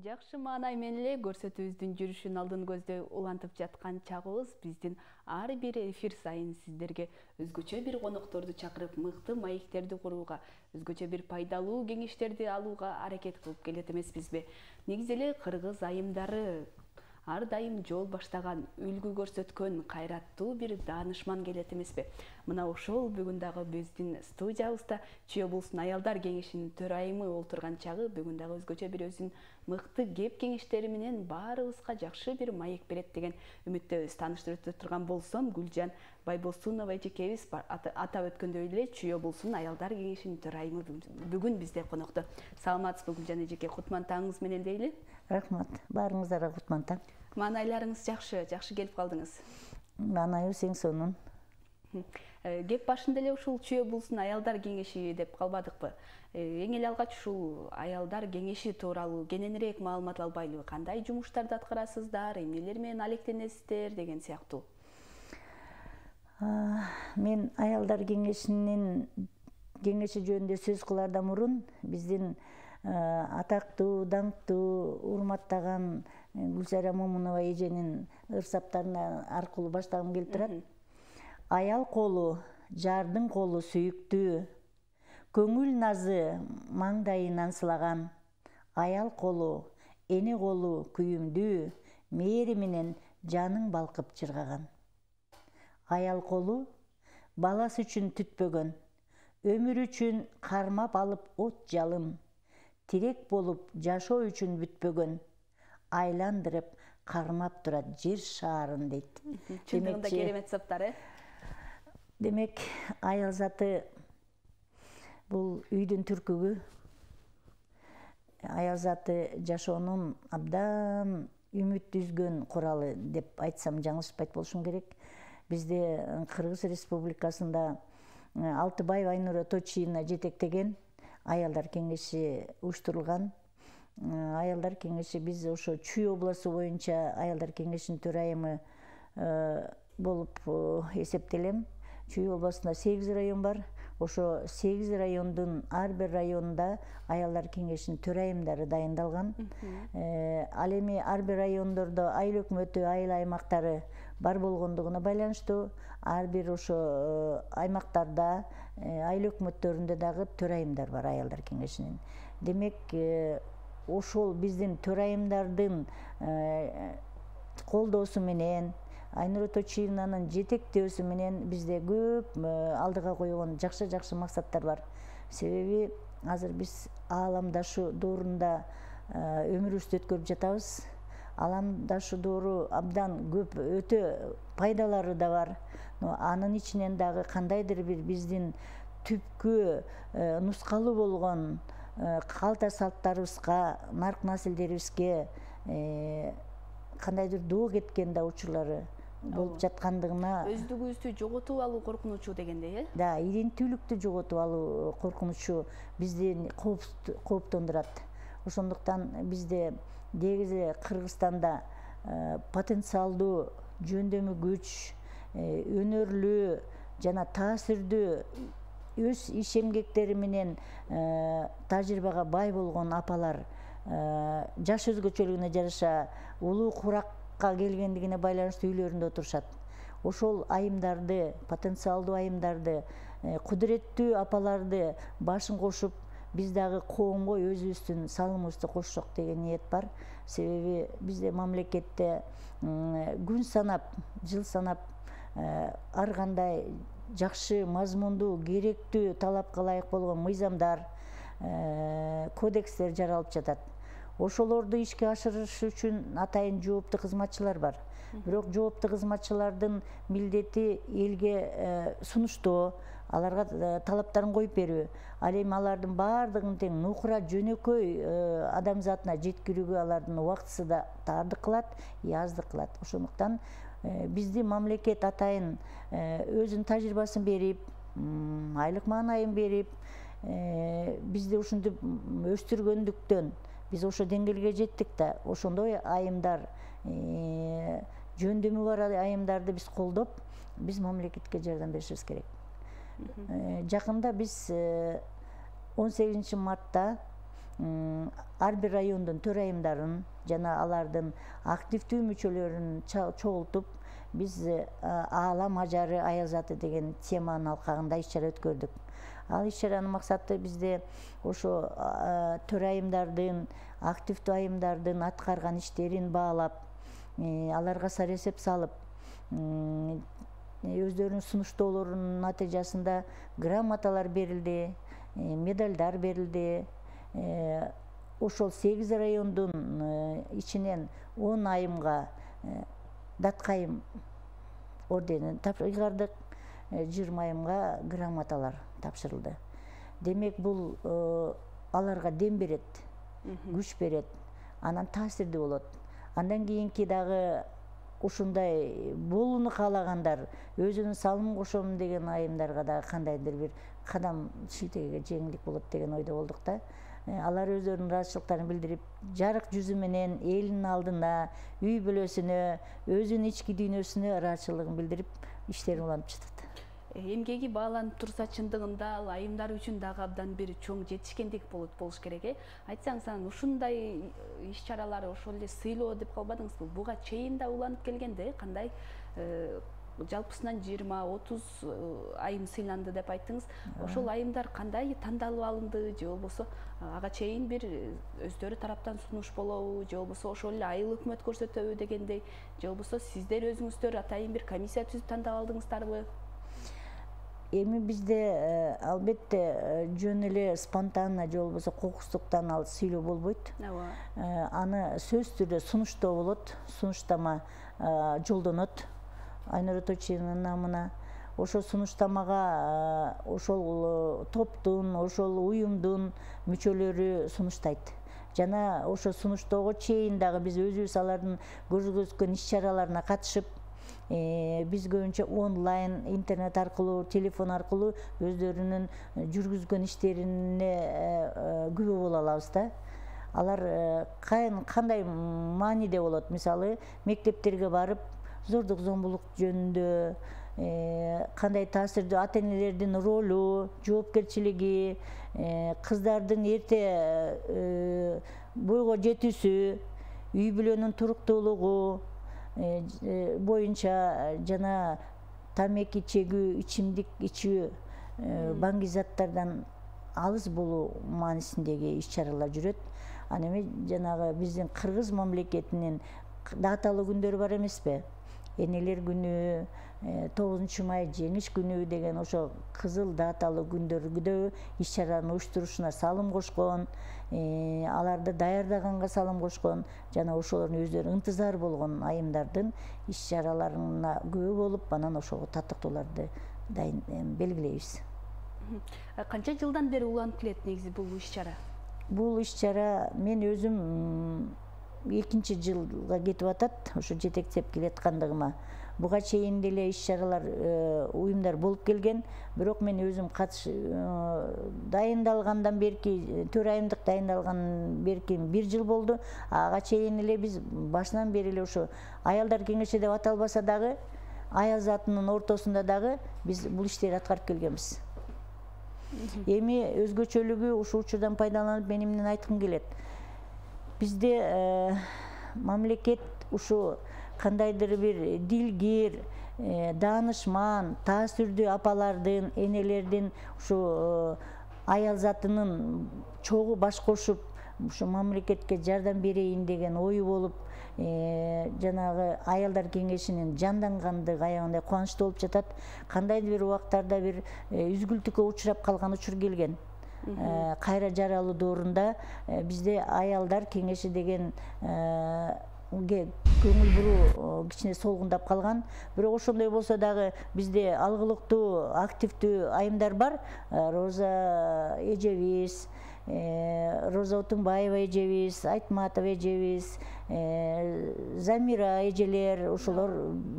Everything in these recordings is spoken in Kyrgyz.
Жакшы маанай менен эле көрсөтүүбүздүн жүрүшүн алдын көздөй улантып жаткан чагыбыз биздин ар бир эфир сайын сиздерге өзгөчө бир конокторду чакырып мыкты маектерди курууга, өзгөчө бир пайдалуу кеңештерди алууга аракет кылып келет эмеспизби? Негизи эле кыргыз айымдары ар дайым жол баштаган, үлгү көрсөткөн кайраттуу бир даанышман келет эмеспи? Мына ошол бүгүн дагы биздин студиябызда Чүй облусунун аялдар кеңешинин төрайымы олтурган чагы бүгүн дагы өзгөчө бир өзүнүн мыкты кеп кеңештери менен баарыбызга жакшы бир маек берет деген үмүттөбүз. Тааныштырып өтө турган болсом, Гүлжан Байбосунова эжекебиз атап өткөндөй эле Чүй облусунун аялдар кеңешинин төрайымы бүгүн бизде конокто. Саламатсызбы Гүлжан эжеке? Кутман таңыңыз менен дейли. Рахмат. Баарыңыздарга кутман таң. Маанайларыңыз жакшы келип калдыңыз. Маанайыбыз эң сонун. Кеп башында эле ушул Чүй облусунун аялдар кеңеши деп калбадыкпы? Эң эле алгач ушул аялдар кеңеши тууралуу кененирээк маалымат албайлыбы? Кандай жумуштарды аткарасыздар, эмнелер менен алектенесиздер деген сыяктуу. Мен аялдар кеңеши жөнүндө сөз кылаардан мурун биздин атактуу, даңктуу, урматтаган Гүлсара Момунова эженин ырсаптарына аркылуу баштагым келип турат. Аял колу, жардын колу сүйүктүү, көңүл назы маңдайынан сылаган. Аял колу, эне колу күйүмдүү, мээри менен жаның балкып чыргаган. Аял колу, баласы үчүн түтпөгөн, өмүр үчүн кармап алып от жалым, тирек болуп жашоо үчүн бүтпөгөн, айландырып кармап турат жер шаарын дейт. Чындыгында керемет саптар, Демек, аял заты бул үйдүн түркүгү. Аял заты жашоонун абдан үмүт үзгөн куралы деп айтсам жаңылышпайт болушум керек. Бизде Кыргыз Республикасында Алтыбаева Айнура Точиевна жетектеген аялдар кеңеши уюштурулган. Аялдар кеңеши биз ошо Чүй облусу боюнча аялдар кеңешинин төрайымы болуп эсептелем. Чүй облусунда 8 район бар. Ошо 8 райондун ар бир районунда аялдар кеңешинин төрайымдары дайындалган. Ал эми ар бир райондордо айыл өкмөтү, айыл аймактары бар болгондугуна байланыштуу ар бир ошо аймактарда, айыл өкмөттөрүндө дагы төрайымдар бар аялдар кеңешинин. Демек, ошол биздин төрайымдардын колдоосу менен, Айнура Точиевнанын жетектөөсү менен бизде көп алдыга койгон жакшы максаттар бар. Себеби азыр биз ааламдашы доорунда өмүрүбүздү өткөрүп жатабыз. Ааламдашы доору абдан көп, өтө пайдалары да бар. Анын ичинен дагы кандайдыр бир биздин түпкү нускалуу болгон калта салттарыбызга, нарк населдерибизге кандайдыр доо кеткен да учурлары болуп жаткандыгына, өздүгүбүздү жоготуп алуу коркунучу дегендей, Да, иденттүүлүктү жоготуп алуу коркунучу бизди кооптондурат. Ошондуктан бизде негизи Кыргызстанда потенциалдуу, жөндөмү күч, өнөрлүү жана таасирдүү өз иш эмгектери менен тажрыйбага бай болгон апалар жаш өзгөчөлүгүнө жараша улуу куракка келгендигине байланыштуу үйлөрүндө отурушат. Ошол айымдарды, потенциалдуу айымдарды, кудуреттүү апаларды башын кошуп, биз дагы коомго өзүбүздүн салымыбызды кошсок деген ниет бар. Себеби бизде мамлекетте күн санап, жыл санап ар кандай жакшы, мазмундуу, керектүү, талапка ылайык болгон мыйзамдар, кодекстер жаралып жатат. Ошолорду ишке ашырыш үчүн атайын жооптуу кызматчылар бар. Бирок жооптуу кызматчылардын милдети элге сунуштоо, аларга талаптарын коюп берүү. Ал эми алардын баардыгын тең нукура жөнөкөй адамзатына жеткирүүгө алардын убактысы да таардык кылат, аздык кылат. Ошондуктан бизди мамлекет атайын өзүнүн тажрыйбасын берип, айлык маанайын берип, бизди ушинтип өстүргөндүктөн биз ошо деңгээлге жеттик да, ошондой айымдар, жөндөмү бар айымдарды биз колдоп, биз мамлекетке жардам беришибиз керек. Жакында биз 18 мартта ар бир райондун төрайымдарын жана алардын активдүү мүчөлөрүн чогултуп биз аалам ажары аял заты деген теманын алкагында иш чара өткөрдүк. Ал иш чаранын максаты бизде ошо төрайымдардын, активдүү айымдардын аткарган иштерин баалап, аларга саресеп салып, өздөрүнүн сунуштоолорунун натыйжасында грамоталар берилди, медалдар берилди. Ошол 8 райондун ичинен 10 айымга даткайым орденин ыйгардык, 20 айымга грамоталар тапшырылды. Демек бул аларга дем берет, күч берет, анан таасирдүү болот. Андан кийинки дагы ушундай болууну каалагандар, өзүнүн салымын кошом деген айымдарга дагы кандайдыр бир кадам шилтеге жеңилдик болот деген ойдо болдук да. Алар өздөрүнүн ыраазычылыктарын билдирип, жарык жүзү менен элинин алдына, үй бүлөсүнө, өзүнүн ички дүйнөсүнө ыраазычылыгын билдирип, иштерин улантып жатат. Эмгеги бааланып турса, чындыгында ал айымдар үчүн дагы абдан бир чоң жетишкендик болуш керек. Айтсаңыз, анан ушундай иш чаралар ошол эле сыйлоо деп калбадыңызбы? Буга чейин да уланып келгенде, кандай жалпысынан 20-30 айым сыйланды деп айттыңыз. Ошол айымдар кандай тандалып алынды, же болбосо ага чейин бир өздөрү тараптан сунуш болобу, же болбосо ошол эле айыл өкмөт көрсөтөбү дегендей, же болбосо сиздер өзүңүздөр атайын бир комиссия түзүп тандап алдыңыздарбы? Эми бизде албетте жөн эле спонтанно же болбосо кокустуктан ал сыйлоо болбойт. Аны сөз түрдө сунуштоо болот, сунуштама жолдонот Айнура Тойчиевнанын намына. Ошол сунуштамага ошол топтун, ошол уюмдун мүчөлөрү сунуштайт. Жана ошо сунуштоого чейин дагы биз өзүбүз алардын көрсөткөн иш чараларына катышып, биз көбүнчө онлайн, интернет аркылуу, телефон аркылуу өздөрүнүн жүргүзгөн иштерине күбө боло алабыз да. Алар кандай мааниде болот? Мисалы, мектептерге барып, зордук зомбулук жөнүндө кандай таасирдүү ата-энелердин ролу, жоопкерчилиги, кыздардын эрте бойго жетүүсү, үй бүлөнүн туруктуулугу боюнча жана тамеки чегүү, ичимдик ичүү, баңги алыс болуу маанисиндеги иш чаралар жүрөт. Аны эми жанагы биздин Кыргыз мамлекетинин даталуу күндөрү бар эмеспи? Энелер күнү, 9 май жеңиш күнү деген ошо кызыл даталуу күндөрдө иш чаранын уюштурушуна салым кошкон, аларды даярдаганга салым кошкон, жана ошолордун өздөрү ынтызар болгон айымдардын иш чараларына күбө болуп, анан ошого таттыктууларды белгилейбиз. Канча жылдан бери уланып келет негизи бул иш чара? Бул иш чара мен өзүм 2-нчи жылга кетип атат, ошо жетектеп келаткандыгыма. Буга чейин деле иш чаралар, уюмдар болуп келген, бирок мен өзүм дайындалгандан берки, төрайымдык дайындалгандан берки 1 жыл болду. Ага чейин эле биз башынан бери эле ошо аялдар кеңеши деп аталбаса дагы, аял затынын ортосунда дагы биз бул иштерди аткарып келгенбиз. Эми өзгөчөлүгү ушул учурдан пайдаланып мен эмнени айткым келет? Бизде мамлекет ушу кандайдыр бир дилгир, даанышман, таасирдүү апалардын, энелердин ушу аял затынын чогуу баш кошуп, ушу мамлекетке жардам берейин деген ою болуп, жанагы аялдар кеңешинин жандангандыгы аябагандай кубанычтуу болуп жатат. Кандайдыр бир убактарда бир үзгүлтүккө учурап калган учур келген. Кайра жаралуу доорунда бизде аялдар кеңеши деген көңүл буруу кичине солгундап калган. Бирок ошондой болсо дагы бизде алгылыктуу, активдүү айымдар бар. Роза эжебиз, Роза Отунбаева эжебиз, Айтматова эжебиз, Замира эжелер, ошолор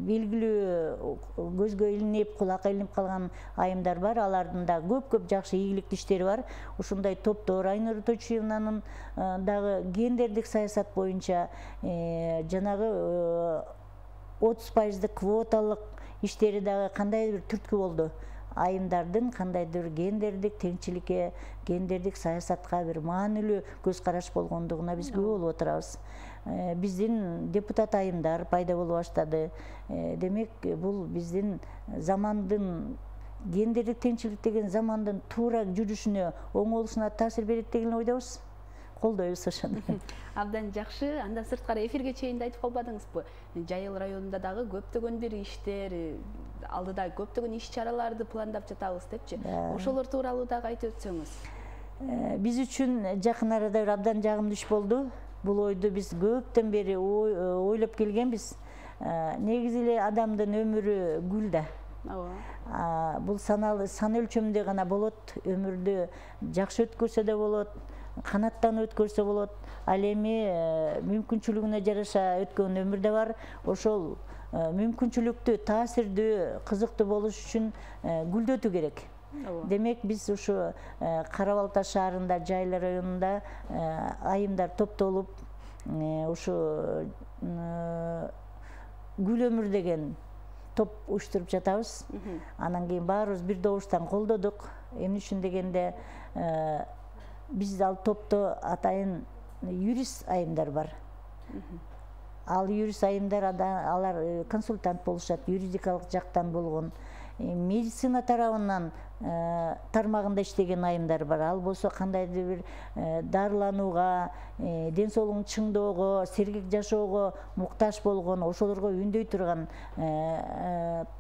белгилүү көзгө илинип, кулакка илинип калган айымдар бар. Алардын да көп жакшы ийгиликтүү иштери бар. Ушундай топтор Айнура Тойчиевнанын дагы гендердик саясат боюнча жанагы 30% квоталык иштери дагы кандайдыр бир түрткү болду. айымдардын кандайдыр гендердик теңчиликке, гендердик саясатка бир маанилүү көз караш болгондугуна биз күбө болуп отурабыз. Биздин депутат айымдар пайда боло баштады. Демек, бул биздин замандын гендердик теңчилик деген замандын туура жүрүшүнө, оң болушуна таасир берет деген ойдобуз. Колдойбуз ошону. Абдан жакшы. Андан сырткары эфирге чейин да айтып калбадыңызбы? Жайыл районунда дагы көптөгөн бир иштер, алдыда көптөгөн иш-чараларды пландап жатабыз депчи. Ошолор тууралуу дагы айтып өтсөңүз. Биз үчүн жакын арада бир абдан жагымдуу иш болду. Бул ойду биз көптөн бери ойлоп келгенбиз. Негизи эле адамдын өмүрү гүл да. Бул сан өлчөмүндө гана болот. Өмүрдү жакшы өткөрсө да болот, канаттанып өткөрсө болот. Ал эми мүмкүнчүлүгүнө жараша өткөн өмүр да бар. Ошол мүмкүнчүлүктүү, таасирдүү, кызыктуу болуш үчүн гүлдөтүү керек. Демек, биз ушу Кара Балта шаарында, Жайыл районунда айымдар топтолуп, ушу гүл өмүр деген топ уюштуруп жатабыз. Анан кийин баарыбыз бир добуштан колдодук. Эмне үчүн дегенде, биз ал топто атайын юрист айымдар бар. Ал юрист айымдар, алар консультант болушат, юридикалык жактан болгон. Медицина тарабынан тармагында иштеген айымдар бар. Ал болсо кандайдыр бир дарыланууга, ден соолугун чыңдоого, сергек жашоого муктаж болгон, ошолорго үндөй турган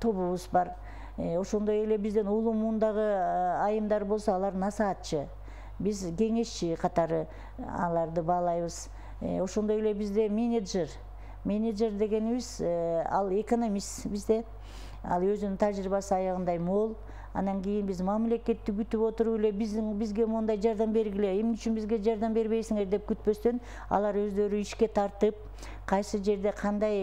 тобубуз бар. Ошондой эле бизден улуу муундагы айымдар болсо, алар насаатчы. Биз кеңешчи катары аларды баалайбыз. Ошондой эле бизде менеджер дегенибиз, ал экономист бизде. Ал өзүнүн тажрыйбасы аягындай мол. Анан кийин биз мамлекетти күтүп отуруп эле бизге мондай жардам бергиле, эмне үчүн бизге жардам бербейсиңер деп күтпөстөн, алар өздөрү ишке тартып, кайсы жерде кандай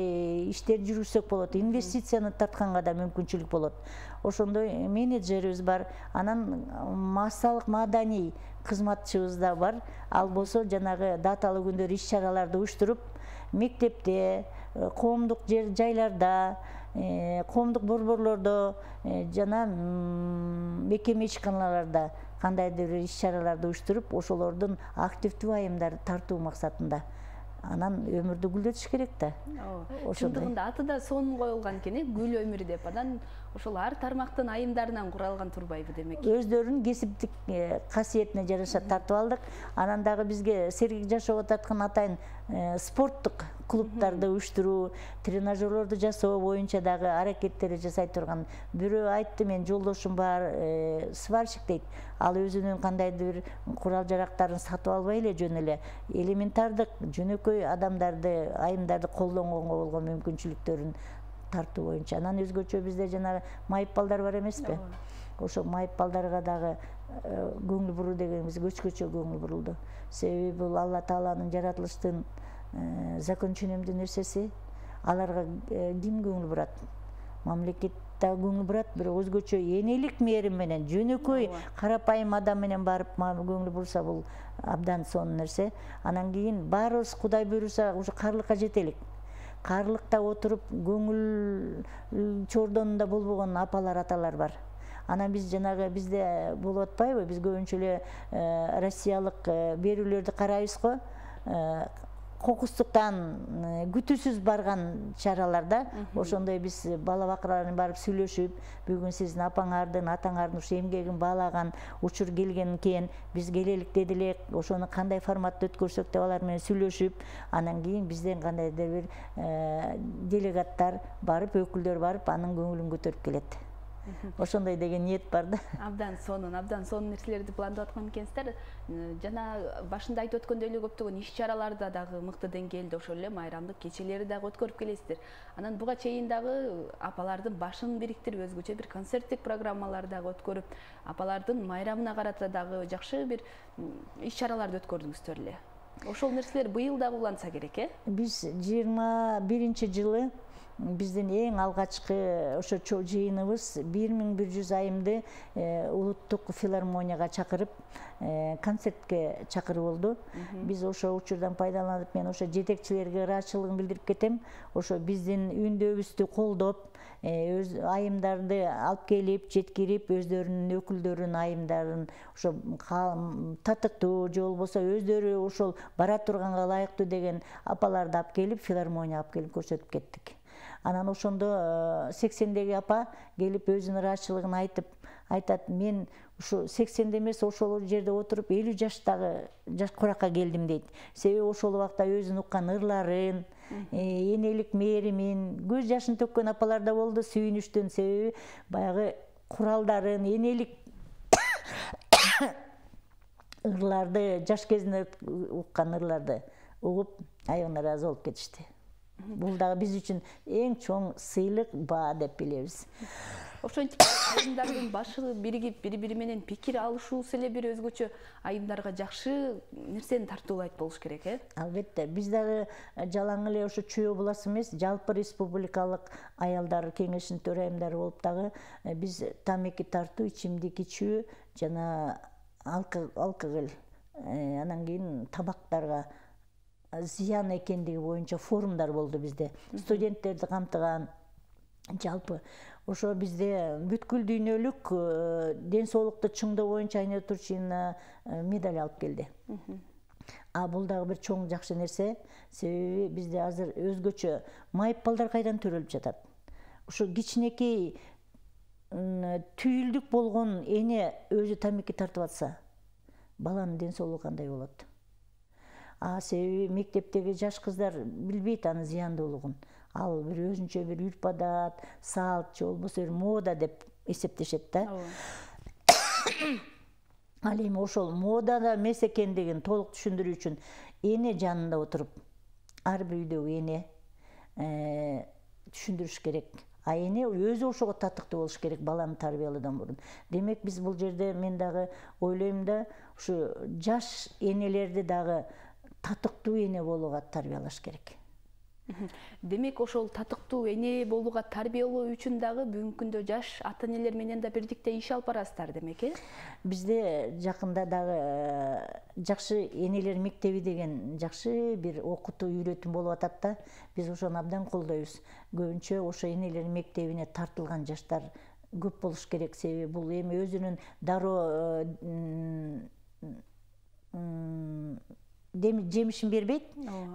иштер жүргүзсөк болот, инвестицияны тартканга да мүмкүнчүлүк болот. Ошондой менеджерибиз бар. Анан массалык маданий кызматчыбыз да бар. Ал болсо жанагы даталуу күндөр иш-чараларды уюштуруп, мектепте, коомдук жайларда, коомдук борборлордо жана мекеме ишканаларда кандайдыр бир иш-чараларды уюштуруп, ошолордун активдүү айымдарды тартуу максатында. Анан өмүрдү гүлдөтүш керек да. Чындыгында аты да сонун коюлган экен, гүл өмүр деп. Анан ошол ар тармактын айымдарынан куралган турбайбы демек? Өздөрүнүн кесиптик касиетине жараша тартып алдык. Анан дагы бизге сергек жашоого тарткан атайын спорттук клубдарды уюштуруу, тренажерлорду жасоо боюнча дагы аракеттерди жасай турган. Бирөө айтты, мен жолдошум бар, сварщик дейт. Ал өзүнүн кандайдыр бир курал жарактарын сатып албай эле жөн эле элементардык, жөнөкөй адамдарды, айымдарды колдонгонго болгон мүмкүнчүлүктөрүн тартуу боюнча. Анан өзгөчө бизде жана майып балдар бар эмеспи? Ошо майып балдарга дагы көңүл буруу дегенибиз көчкөчө көңүл бурулду. Себеби бул Алла Тааланын жаратылыштын закон ченемдүү нерсеси. Аларга ким көңүл бурат? Мамлекет да көңүл бурат, бирок өзгөчө энелик мээрим менен жөнөкөй карапайым адам менен барып көңүл бурса, бул абдан сонун нерсе. Анан кийин баарыбыз Кудай буйруса ушу карлыкка жетелик. Карлыкта отуруп көңүл чордонунда болбогон апалар, аталар бар. Анан биз жанагы бизде болуп атпайбы? Биз көбүнчө эле Россиялык берүүлөрдү карайбыз го. Кокустуктан күтүүсүз барган чараларда, ошондой биз бала бакыраларын барып сүйлөшүп, бүгүн сиздин апаңардын, атаңардын ушу эмгегин баалаган учур келген экен, биз келелик дедилек, ошону кандай форматта өткөрсөк деп алар менен сүйлөшүп, анан кийин бизден кандайдыр бир делегаттар барып, өкүлдөр барып, анын көңүлүн көтөрүп келет. Ошондой деген ниет бар да. Абдан сонун нерселерди пландап аткан экенсиздер. Жана башында айтып өткөндөй эле көптөгөн иш-чараларда дагы мыкты деңгээлде, ошол эле майрамдык кечелери дагы өткөрүп келесиздер. Анан буга чейин дагы апалардын башын бириктирип, өзгөчө бир концерттик программалар дагы өткөрүп, апалардын майрамына карата дагы жакшы бир иш-чараларды өткөрдүңүздөр эле. Ошол нерселер быйыл дагы уланса керек, Биз 21-жылы биздин эң алгачкы ошо жыйыныбыз 1100 айымды улуттук филармонияга чакырып концертке чакырып болду. Биз ошо учурдан пайдаланып, мен ошо жетекчилерге ыраазычылыгын билдирип кетем. Ошо биздин үндөбүздү колдоп, өз айымдарды алып келип, жеткирип, өздөрүнүн өкүлдөрүнүн айымдарын ошо татыктуу же болбосо өздөрү ошол бара турганга ылайыктуу деген апаларды алып келип, филармонияга алып келип көрсөтүп кеттик. Анан ошондо 80деги апа келип өзүнүн ыраазычылыгын айтат, мен ушу 80де эмес, ошол жерде отуруп 50 жаштагы куракка келдим дейт. Себеби ошол убакта өзүн уккан ырларын, энелик мээримин, көз жашын төккөн апалар да болду, сүйүнүчтөн. Себеби баягы куралдарын, энелик ырларды, жаш кезинде уккан ырларды угуп, аябына ыраазы болуп кетишти. Бул дагы биз үчүн эң чоң сыйлык, баа деп билебиз. Ошентип айымдардын башы биригип, бири-бири менен пикир алышуусу эле бир өзгөчө айымдарга жакшы нерсени тартуулайт болуш керек, Албетте, биз дагы жалаң эле ошо чүй областы эмес, жалпы республикалык аялдар кеңешинин төрайымдары болуп дагы биз тамеки тартуу, ичимдик ичүү жана алкоголь, анан кийин табактарга зыян экендиги боюнча форумдар болду bizde. Студенттерди камтыган жалпы ошо bizde бүткүл дүйнөлүк ден соолукту чыңдоо боюнча айнек турчина медаль алып келди. Бул дагы бир чоң жакшы нерсе. Себеби bizde азыр өзгөчө майыппалдар кайдан төрөлүп жатат. Ошо кичинекей түйүлдүк болгон эне өзү тамеки тартып атса, баланын ден соолугу кандай болот? Себеби мектептеги жаш кыздар билбейт анын зыяндуулугун. Ал бир өзүнчө бир үрп адат, салт, же болбосо бир мода деп эсептешет да. Ал эми ошол модада эмес экендигин толук түшүндүрүү үчүн эне жанында отуруп, ар бир үйдөгү эне түшүндүрүш керек. Эне өзү ошого татыктуу болуш керек баланы тарбиялоодон мурун. Демек биз бул жерде мен дагы ойлойм да, ушу жаш энелерди дагы татыктуу эне болууга тарбиялаш керек. Демек ошол татыктуу эне болууга тарбиялоо үчүн дагы бүгүнкү күндө жаш ата энелер менен да бирдикте иш алып барасыздар демек, Бизде жакында дагы жакшы энелер мектеби деген жакшы бир окутуу үйрөтүм болуп атат да. Биз ошону абдан колдойбуз. Көбүнчө ошо энелер мектебине тартылган жаштар көп болуш керек. Себеби бул эми өзүнүн дароо жемишин бербейт.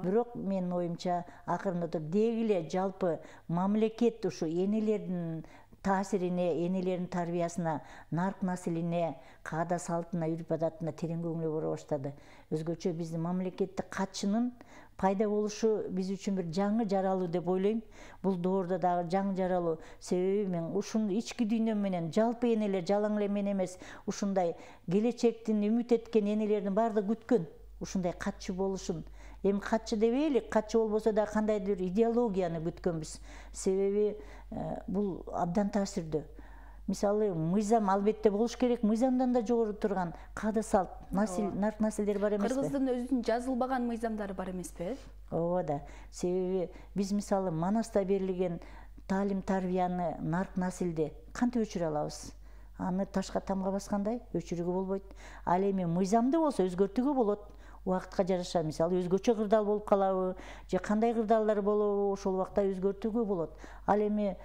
Бирок менин оюмча акырында туруп деги эле жалпы мамлекет ушу энелердин таасирине, энелердин тарбиясына, нарк наслине, каада салтына, үрп адатына терең көңүл бура баштады. Өзгөчө биздин мамлекеттик катчынын пайда болушу биз үчүн бир жаңы жаралуу деп ойлойм. Бул доордо дагы жаңы жаралуу. Себеби мен ушуну ички дүйнөм менен жалпы энелер жалаң эле мен эмес, ушундай келечектин үмүт эткен энелердин баардыгы күткөн. Ушундай катчы болушун. Эми катчы дебейли, катчы болбосо да кандайдыр идеологияны күткөнбүз. Себеби бул абдан таасирдүү. Мисалы, мыйзам албетте болуш керек, мыйзамдан да жогору турган каада салт, нарк наслдер бар эмеспи? Кыргыздын өзүнүн жазылбаган мыйзамдары бар эмеспи? Ооба да. Себеби биз мисалы Манаста берилген таалим тарбияны, нарк наслди кантип өчүрө алабыз? Аны ташка тамга баскандай өчүрүүгө болбойт. Ал эми мыйзамды болсо өзгөртүүгө болот. Убакытка жараша, мисалы өзгөчө кырдаал болуп калабы, же кандай кырдаалдар болобу, ошол убакта өзгөртүүгө болот. Ал эми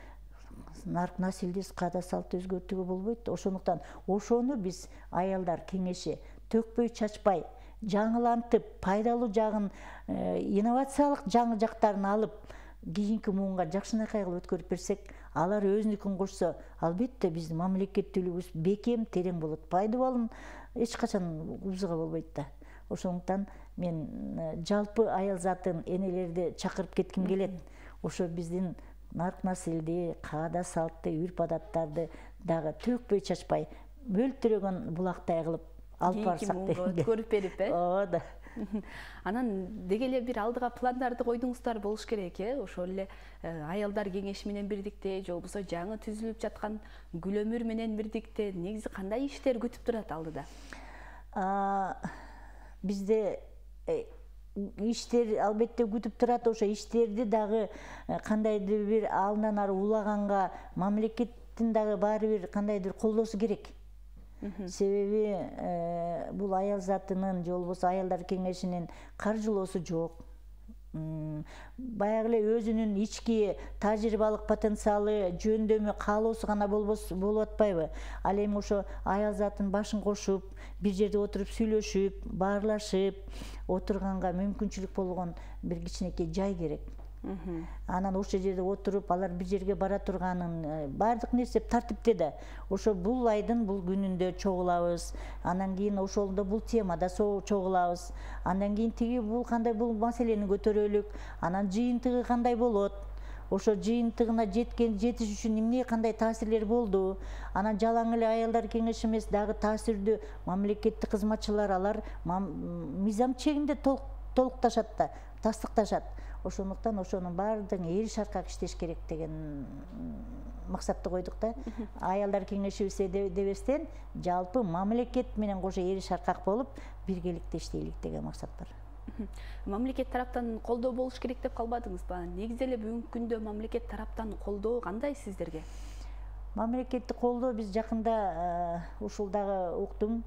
нарк наслди, каада салтты өзгөртүүгө болбойт. Ошондуктан ошону биз аялдар кеңеши төкпөй чачпай, жаңылантып, пайдалуу жагын, инновациялык жаңы жактарын алып, кийинки муунга жакшынакай кылып өткөрүп берсек, алар өзүнүкүн кошсо, албетте биздин мамлекеттүүлүгүбүз бекем, терең болот. Пайдалуу эч качан убзыга болбойт да. Ошондуктан мен жалпы аял затын энелерди чакырып кетким келет. Ошо биздин нарк наслди, каада салтты, үрп адаттарды дагы төкпөй чачпай, мөлтүрөгөн булактай кылып алып барсак деп көрүп берип, Ооба да. Анан деги эле бир алдыга пландарды койдуңуздар болуш керек, ошол эле аялдар кеңеши менен бирдикте, же болбосо жаңы түзүлүп жаткан гүл өмүр менен бирдикте негизи кандай иштер күтүп турат алдыда? Бизде иштер албетте күтүп турат. Ошо иштерди дагы кандайдыр бир алдан ары улаганга мамлекеттин дагы баары бир кандайдыр колдоосу керек. Себеби бул аял затынын же болбосо аялдар кеңешинин каржылоосу жок. Баягы эле өзүнүн ички тажрыйбалык потенциалы, жөндөмү, каалоосу гана болуп атпайбы? Ал эми ошо аял затын башын кошуп, бир жерде отуруп сүйлөшүп, баарлашып отурганга мүмкүнчүлүк болгон бир кичинекей жай керек. Анан ошол жерде отуруп, алар бир жерге бара турганын баардык нерсе тартипте да. Ошо бул айдын бул күнүндө чогулабыз. Андан кийин ошолдо бул темада чогулабыз. Андан кийин тиги бул кандай бул маселени көтөрөлүк. Анан жыйынтыгы кандай болот? Ошо жыйынтыгына жетиш үчүн эмне кандай таасирлер болду? Анан жалаң эле аялдар кеңеши эмес, дагы таасирдүү мамлекеттик кызматчылар алар мыйзам чегинде толукташат да, тастыкташат. Ошондуктан ошонун баардыгын эри шаркак иштеш керек деген максатты койдук да. Аялдар кеңешибизде дебестен жалпы мамлекет менен кошо эри шаркак болуп биргеликте иштейлик деген максат бар. Мамлекет тараптан колдоо болуш керек деп калбадыңызбы? Негизи эле бүгүнкү күндө мамлекет тараптан колдоо кандай сиздерге? Мамлекеттик колдоо биз жакында ушул дагы уктум.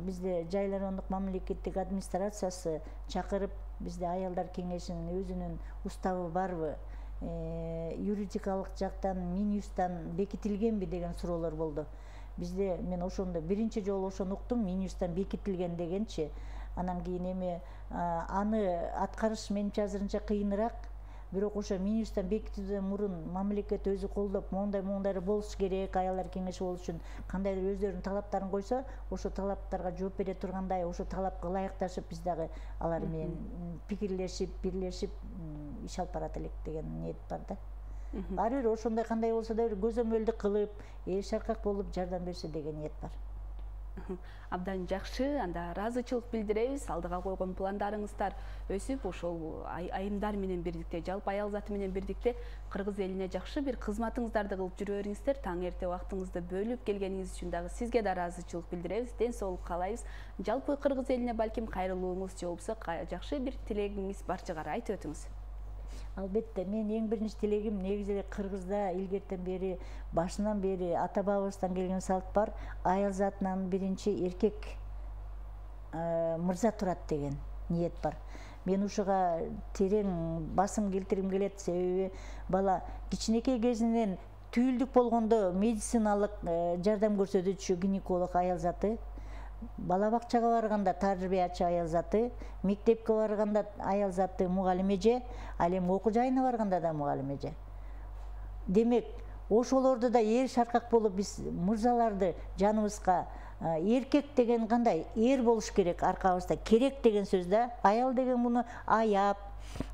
Бизде Жайлануулук мамлекеттик администрациясы чакырып, бизде аялдар кеңешинин өзүнүн уставы барбы, юридикалык жактан Минюстан бекитилгенби деген суроолор болду. Бизде мен ошондо биринчи жолу ошону уктум, Минюстан бекитилген дегенчи. Анан кийин эми аны аткарыш менимче азырынча кыйыныраак. Бирок ошо Минюстан бекитүүдөн мурун мамлекет өзү колдоп, моундай болуш керек, аялдар кеңеши болуш үчүн кандайдыр өздөрүнүн талаптарын койсо, ошо талаптарга жооп бере тургандай, ошо талапка ылайыкташып биз дагы алар менен пикирлешип, бирлешип иш алып барат элек деген ниет бар да. Баары бир ошондой кандай болсо да бир көзөмөлдүк кылып, эри шаркак болуп жардам берсе деген ниет бар. Абдан жакшы, анда ыраазычылык билдиребиз. Алдыга койгон пландарыңыздар өсүп, ошол айымдар менен бирдикте, жалпы аял заты менен бирдикте кыргыз элине жакшы бир кызматыңыздарды кылып жүрө бериңиздер. Таң эрте убактыңызды бөлүп келгениңиз үчүн дагы сизге да ыраазычылык билдиребиз. Ден соолук каалайбыз. Жалпы кыргыз элине балким кайрылууңуз же болбосо жакшы бир тилегиңиз бар чыгар, айтып өтүңүз. Албетте, мен эң биринчи тилегим негизи эле Кыргызда илгертен бери, башынан бери ата бабабыздан келген салт бар. Аял затынан биринчи эркек мырза турат деген ниет бар. Мен ушуга терең басым келтиргим келет, себеби бала кичинекей кезинен түйүлдүк болгондо медициналык жардам көрсөтүүчү гинеколог аял заты, бала бакчага барганда тарбиячы аял заты, мектепке барганда аял заты мугалим эже, ал эми окуу жайына барганда да мугалим эже. Демек, ошолорду да эри шаркак болуп биз мырзаларды жаныбызга эркек деген кандай эр болуш керек, аркабызда керек деген сөз да. Аял деген муну аяп,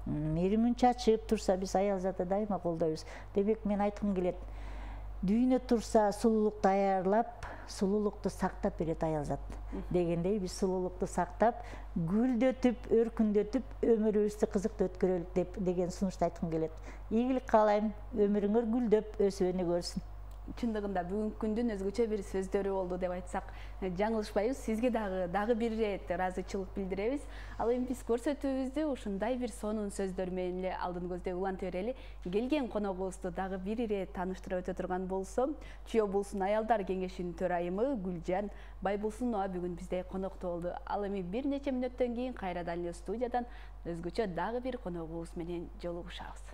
меримин чачып турса, биз аял заты дайыма колдойбуз. Демек, мен айткым келет, дүйнө турса сулуулукту аярлап, сулуулукту сактап берет аял зат дегендей, биз сулуулукту сактап, гүлдөтүп, өркүндөтүп, өмүрүбүздү кызыктуу өткөрөлүк деген сунушту айткым келет. Ийгилик каалайм, өмүрүңөр гүлдөп, өсүп өнүгө берсин. Чындыгында бүгүнкү күндүн өзгөчө бир сөздөрү болду деп айтсак жаңылышпайбыз. Сизге дагы бир ирет ыраазычылык билдиребиз. Ал эми биз көрсөтүүбүздү ушундай бир сонун сөздөр менен эле алдын көздөй уланта берели. Келген коногубузду дагы бир ирет тааныштыра өтө турган болсом, Чүй облусунун аялдар кеңешинин төрайымы Гүлжан Байболсунова бүгүн бизде конокто болду. Ал эми бир нече мүнөттөн кийин кайрадан эле студиядан өзгөчө дагы бир коногубуз менен жолугушабыз.